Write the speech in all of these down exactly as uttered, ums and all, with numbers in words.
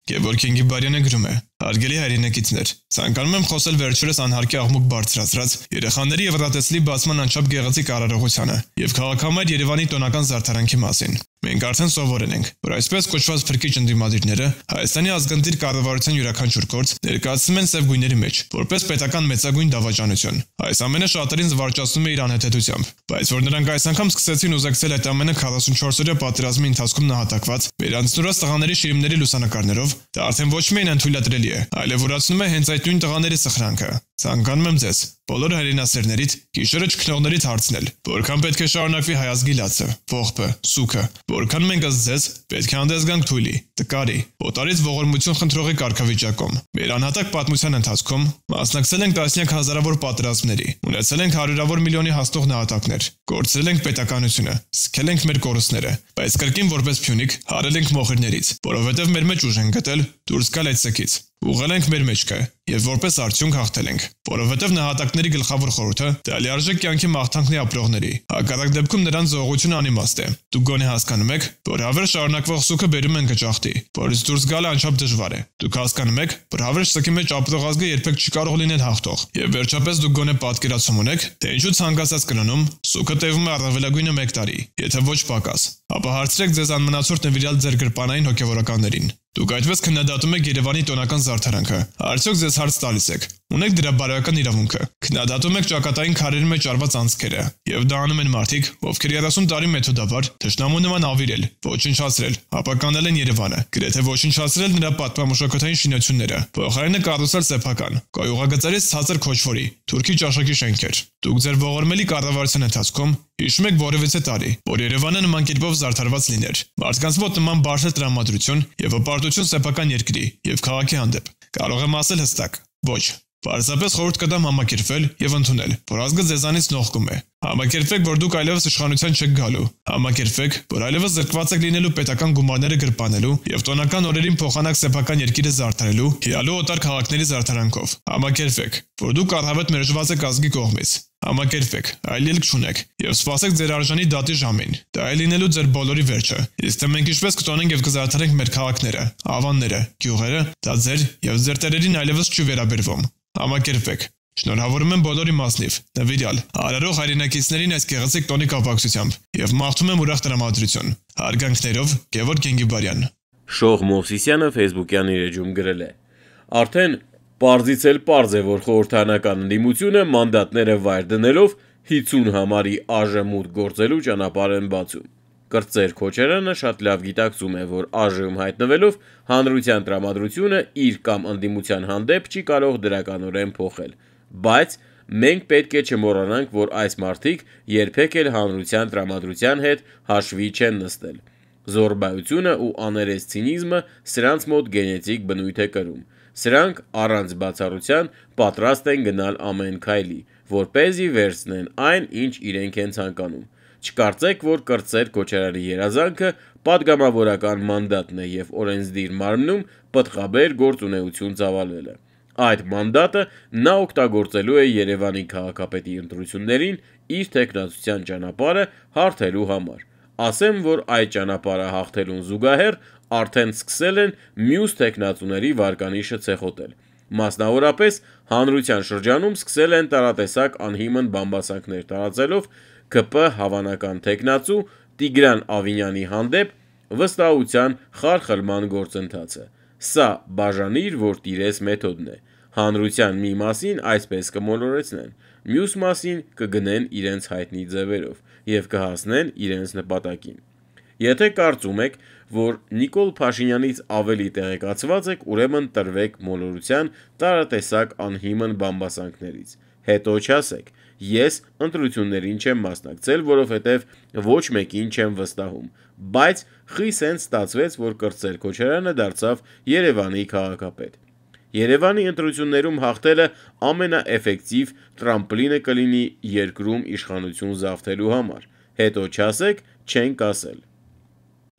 Գևորգ Գիբարյանը գրում է. Հարգելի հայրենակիցներ, ցանկանում եմ խոսել վերջերս անհարկի աղմուկ բարձրացրած երեխաների եւ ռադեցլի բացման անչափ գեղեցիկ արարողությանը եւ քաղաքամայր Երևանի տոնական զարդարանքի մասին։ Մենք արդեն սովորել ենք, որ այսպես կոչված փրկիչ ընդդիմադիրները Հայաստանի ազգընտիր կառավարության յուրաքանչյուր գործ ներկայացնում են սև գույների մեջ, որպես պետական մեծագույն դավաճանություն։ Այս ամենը շատերին զվարճացնում է իր անհեթեթությամբ, բայց որ նրանք այս անգամ սկսեցին ուզեկցել այդ ամենը քառասունչորս-օրյա պատերազմի ընթացքում նահատակված վերանցնուրած տղաների շիրիմների լուսանկարներով, դա արդեն ոչ միայն անթույլատրելի է, այլևորացնում է հենց այդ նույն տղաների սխրանքը։ Ցանկանում եմ ձեզ, բոլոր հայրենասերներից, գիշերը չքնողներից հարցնել, որքան պետք է շարունակվի հայ ազգի լացը, ողբը, սուքը, որքան մենք ըստ ձեզ պետք է հանդես գանք թույլի, տկարի, օտարից ողորմություն խնդրողի կարգավիճակում։ Մեր անհատակ պատմության ընթացքում մասնակցել ենք տասնյակ հազարավոր պատերազմների, ունեցել ենք հարյուրավոր միլիոնի հասնող նահատակներ, կորցրել ենք պետականությունը, սքել ենք մեր կորուստները, բայց կրկին որպես փյունիկ հարել ենք մոխիրներից, որովհետև մեր մեջ ուժ են գտել դուրս գալ այդ սքից։ Ուղղել ենք մեր մեջքը եւ որպես արդյունք հաղթել ենք, որովհետեւ նահատակների գլխավոր խորհուրդը դա լիարժեք կյանքի մաղթանքն է ապրողների։ Հակառակ դեպքում նրանց զողությունը անիմաստ է։ Դուք գոնե հասկանում եք, որ հավերժ շարունակվող սուքը բերում են գճախտի, որից դուրս գալը անչափ դժվար է։ Դուք հասկանում եք, որ հավերժ սքի մեջ ապրող ազգը երբեք չի կարող լինել հաղթող։ Եվ վերջապես դուք գոնե պատկերացում ունեք, թե ինչու ցանկացած կրոնում սուքը տևում է առավելագույնը մեկ տարի, եթե ոչ պակաս։ Ապա հարցրեք ձեզ անմնացորդ նվիրյալ ձեր գրպանային հոգևորականներին։ Դուք այդպես քննադատում եք Երևանի տոնական զարդարանքը։ Արդյոք ձեզ հարց տալիս եք։ Ունեք դրա բարոյական իրավունքը։ Քննադատում եք ճակատային քարերի մեջ արված անցքերը, եւ դա անում են մարդիկ, ովքեր երեսուն տարի մեթոդաբար թշնամու նման ավիրել, ոչնչացրել, ապականել են Երևանը, գրեթե ոչնչացրել նրա պատմամշակութային շինությունները, փոխարենը կառուցել սեփական, կայուղագծերից ցածր քոչվորի, թուրքի ճաշակի շենքեր։ Դուք ձեր ողորմելի կառավարության ընթացքում հիշում եք որևիցե տարի, որ Երևանը նման կերպով զարդարված լիներ։ Մարդկանց մոտ նման բարձր տրամադրություն եւ հպարտություն սեփական երկրի եւ քաղաքի հանդեպ։ Կարող եմ ասել հստակ. ոչ։ Պարզապես խորհուրդ կտամ համակերպվել եւ ընդունել, որ ազգը ձեզանից նողկում է։ Համակերպվեք, որ դուք այլևս իշխանության չեք գալու։ Համակերպվեք, որ այլևս զրկված եք լինելու պետական գումարները գրպանելու եւ տոնական օրերին փոխանակ սեփական երկիրը զարդարելու, հիալու օտար քաղաքների զարդարանքով։ Համակերպվեք, որ դուք առհավետ մերժված եք ազգի կողմից։ Համակերպվեք, այլ ելք չունեք եւ սպասեք ձեր արժանի դատի ժամին։ Դա է լինելու ձեր բոլորի վերջը։ Իսկ թե մենք ինչպես կտոնենք եւ կզարդարենք մեր քաղաքները, ավանները, գյուղերը, դա ձեր եւ ձեր տերերին այլևս չի վերաբերվում։ Համակերպվեք։ Շնորհավորում եմ բոլորի մասնիվ, նվիրյալ, արարող հայրենակիցներին այս գեղեցիկ տոնի կապակցությամբ եւ մաղթում եմ ուրախ տրամադրություն։ Հարգանքներով, Գևորգ Գիբարյան։ Շող Մովսիսյանը Facebook-յան իր էջում գրել է. Արդեն պարզից էլ պարզ է, որ խորհրդանական ընդդիմությունը մանդատները վայր դնելով հինգ համարի ԱԺ մուտք գործելու ճանապարհ են բացում։ Կրտսեր Քոչարյանը շատ լավ գիտակցում է, որ ԱԺ-ում հայտնվելով հանրության տրամադրությունը իր կամ ընդդիմության հանդեպ չի կարող դրականորեն փոխել, բայց մենք պետք է չմոռանանք, որ այս մարդիկ երբեք էլ հանրության տրամադրության հետ հաշվի չեն նստել։ Զորբայությունը ու աներես ցինիզմը սրանց մոտ գենետիկ բնույթ է կրում։ Սրանք առանց բացառության պատրաստ են գնալ ամեն քայլի, որպեսզի վերցնեն այն, ինչ իրենք են ցանկանում։ Չկարծեք, որ Կրտսեր Քոչարյանի երազանքը պատգամավորական մանդատն է եւ օրենսդիր մարմնում պտղաբեր գործունեություն ծավալվելը։ Այդ մանդատը նա օգտագործելու է Երևանի քաղաքապետի ընտրություններին իր տեխնացության ճանապարհը հարթելու համար։ Ասեմ, որ այդ ճանապարհը հաղթելուն զուգահեռ արդեն սկսել են մյուս տեխնացուների վարկանիշը ցեխոտել։ Մասնավորապես հանրության շրջանում սկսել են տարատեսակ անհիմն բամբասանքներ տարածելով ԿՊ հավանական տեխնացու Տիգրան Ավինյանի հանդեպ վստահության խարխլման գործընթացը։ Սա բաժանիր, որ տիրես մեթոդն է։ Հանրության մի մասին այսպես կմոլորեցնեն, մյուս մասին կգնեն իրենց հայտնի ձևերով եւ կհասնեն իրենց նպատակին։ Եթե կարծում եք, որ Նիկոլ Փաշինյանից ավելի տեղեկացված եք, ուրեմն տրվեք մոլորության տարատեսակ անհիմն բամբասանքներից։ Հետո չասեք, ես ընտրություններին չեմ մասնակցել, որովհետև ոչ մեկին չեմ վստահում, բայց խիսեն ստացվեց, որ Կրտսեր Քոչարյանը դարձավ Երևանի քաղաքապետ։ Երևանի ընտրություններում հաղթելը ամենաէֆեկտիվ տրամպլինը կլինի երկրում իշխանություն զավթելու համար։ Հետո չասեք, չենք ասել։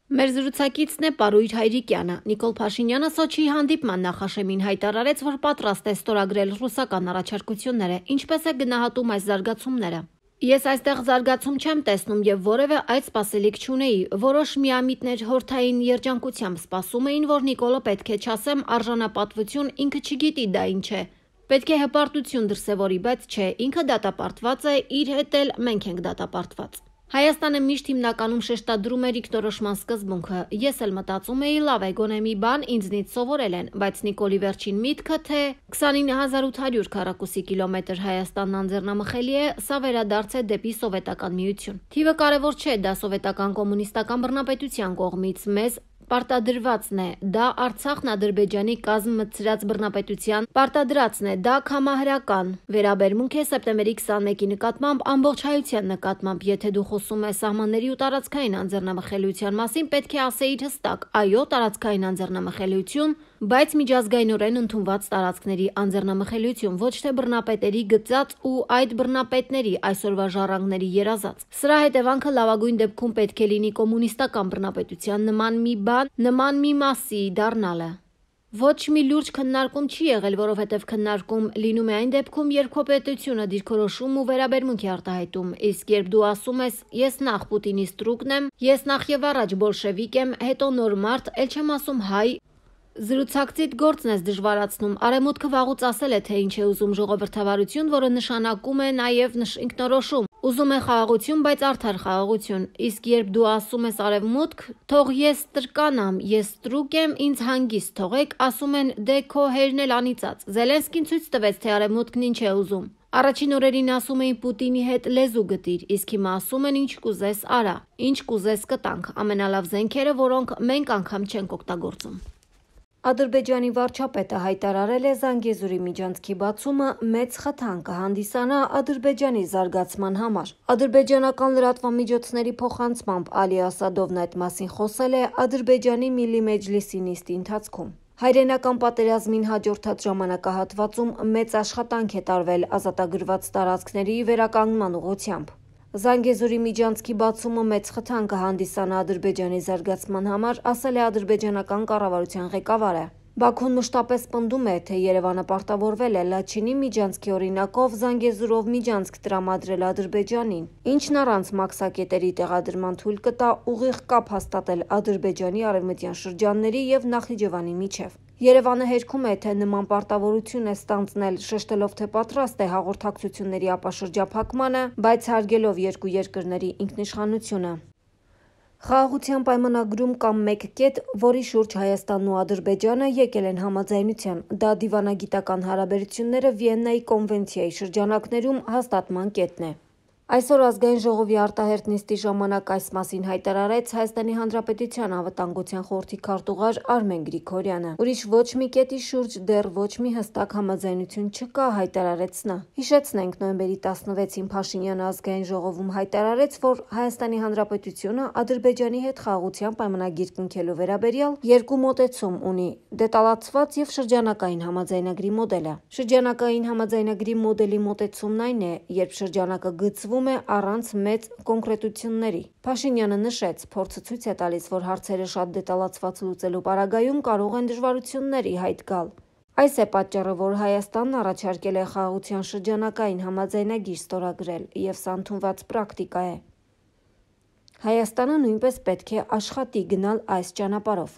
Մեր զրուցակիցն է Պարույր Հայրիկյանը։ Նիկոլ Փաշինյանը Սոչիի հանդիպման նախաշեմին հայտարարեց, որ պատրաստ է ստորագրել ռուսական առաջարկությունները։ Ինչպես է գնահատում այս զարգացումները։ Ես այստեղ զարգացում չեմ տեսնում եւ որևէ այդ սպասելիք չունեի։ Որոշ միամիտներ հորթային երջանկությամբ սպասում էին, որ Նիկոլը պետք է չասեմ արժանապատվություն, ինքը չգիտի դա ինչ է։ Պետք է հպարտություն դրսևորի, բայց չէ, ինքը դատապարտված է, իր հետ էլ մենք ենք դատապարտված։ Հայաստանը միշտ հիմնականում շեշտադրում էր ինքնորոշման սկզբունքը։ Ես էլ մտածում էի, լավ է, գոնե մի բան ինձնից սովորել են, բայց Նիկոլի վերջին միտքը, թե քսանինը հազար ութ հարյուր քառակուսի կիլոմետր Հայաստանն անձեռնամխելի է, սա վերադարձ է դեպի Սովետական միություն։ Թիվը կարևոր չէ, դա սովետական կոմունիստական բռնապետության կողմից մեզ պարտադրվածն է, դա Արցախն Ադրբեջանի կազմ մտցրած բռնապետության պարտադրածն է, դա կամահրական վերաբերմունք է սեպտեմբերի քսանմեկի նկատմամբ ամբողջ հայության նկատմամբ, եթե դու խոսում ես սահմանների ու տարածքային անձեռնամխելիության մասին, պետք է ասեիր հստակ, այո, տարածքային անձեռնամխելիություն, բայց միջազգայինորեն ընդունված տարածքների անձեռնամխելիություն, ոչ թե բռնապետերի գծած ու այդ բռնապետների այսօրվա ժառանգների երազած։ Սրա հետևանքը լավագույն դեպքում պետք է լինի կոմունիստական բռնապետության նման մի բան, նման մի մասի դառնալը։ Ոչ մի լուրջ քննարկում չի եղել, որովհետև քննարկում լինում է այն դեպքում, երբ քո պետությունը դիրքորոշում ու վերաբերմունք է արտահայտում, իսկ երբ դու ասում ես ես նախ Պուտինի ստրուկն եմ, ես նախ եւ առաջ բոլշևիկ եմ, հետո նոր մարդ, ել չեմ ասում հայ, զրուցակցիդ գործն ես դժվարացնում։ Արևմուտքը վաղուց ասել է, թե ինչ է ուզում ժողովրդավարություն, որը նշանակում է նաև ինքնորոշում։ Ուզում է խաղաղություն, բայց արդար խաղաղություն։ Իսկ երբ դու ասում ես արևմուտք, թող ես տրկանամ, ես ստրուկ եմ, ինձ հանգիստ թողեք, ասում են դե քո հերն էլ անիծած։ Զելենսկին ցույց տվեց, թե արևմուտքն ինչ է ուզում։ Առաջին օրերին ասում էին Պուտինի հետ լեզու գտիր, իսկ հիմա ասում են ինչ կուզես արա, ինչ կուզես կտանք, ամենալավ զենքերը, որոնք մենք անգամ չենք օգտագործում։ Ադրբեջանի վարչապետը հայտարարել է Զանգեզուրի միջանցքի բացումը մեծ խթան կհանդիսանա Ադրբեջանի զարգացման համար։ Ադրբեջանական լրատվամիջոցների փոխանցմամբ Ալի Ասադովն այդ մասին խոսել է Ադրբեջանի Միլլի Մեջլիսի նիստի ընթացքում։ Հայրենական պատերազմին հաջորդած ժամանակահատվածում մեծ աշխատանք է տարվել ազատագրված տարածքների վերականգնման ուղղությամբ։ Զանգեզուրի միջանցքի բացումը մեծ խթան կհանդիսանա Ադրբեջանի զարգացման համար, ասել է ադրբեջանական կառավարության ղեկավարը։ Բաքուն մշտապես պնդում է, թե Երևանը պարտավորվել է Լաչինի միջանցքի օրինակով Զանգեզուրով միջանցք տրամադրել Ադրբեջանին, ինչն առանց մաքսակետերի տեղադրման թույլ կտա ուղիղ կապ հաստատել Ադրբեջանի արևմտյան շրջանների եւ Նախիջևանի միջև։ Երևանը հերքում է, թե նման պարտավորություն է ստանձնել, շեշտելով, թե պատրաստ է հաղորդակցությունների ապաշրջափակմանը, բայց հարգելով երկու երկրների ինքնիշխանությունը։ Խաղաղության պայմանագրում կամ մեկ կետ, որի շուրջ Հայաստանն ու Ադրբեջանը եկել են համաձայնության, դա դիվանագիտական հարաբերությունները Վիեննայի կոնվենցիայի շրջանակներում հաստատման կետն է։ Այսօր ազգային ժողովի արտահերթ նիստի ժամանակ այս մասին հայտարարեց Հայաստանի Հանրապետության անվտանգության խորհրդի քարտուղար Արմեն Գրիգորյանը։ Ուրիշ ոչ մի կետի շուրջ դեռ ոչ մի հստակ համաձայնություն չկա, հայտարարեց նա։ Հիշեցնենք, նոյեմբերի տասնվեցին Փաշինյանը ազգային ժողովում հայտարարեց, որ Հայաստանի Հանրապետությունը Ադրբեջանի հետ խաղաղության պայմանագիր կնքելու վերաբերյալ երկու մոտեցում ունի՝ դետալացված եւ շրջանակային համաձայնագրի մոդելը։ Շրջանակային համաձայնագրի մոդելի մոտեցումն այն է, երբ շրջանակը գծվում է առանց մեծ կոնկրետությունների։ Փաշինյանը նշեց, փորձը ցույց է տալիս, որ հարցերը շատ դետալացված լուծելու պարագայում կարող են դժվարությունների հայտ գալ։ Այս է պատճառը, որ Հայաստանն առաջարկել է խաղաղության շրջանակային համաձայնագիր ստորագրել, եւ սա ընդունված պրակտիկա է։ Հայաստանը նույնպես պետք է աշխատի գնալ այս ճանապարհով։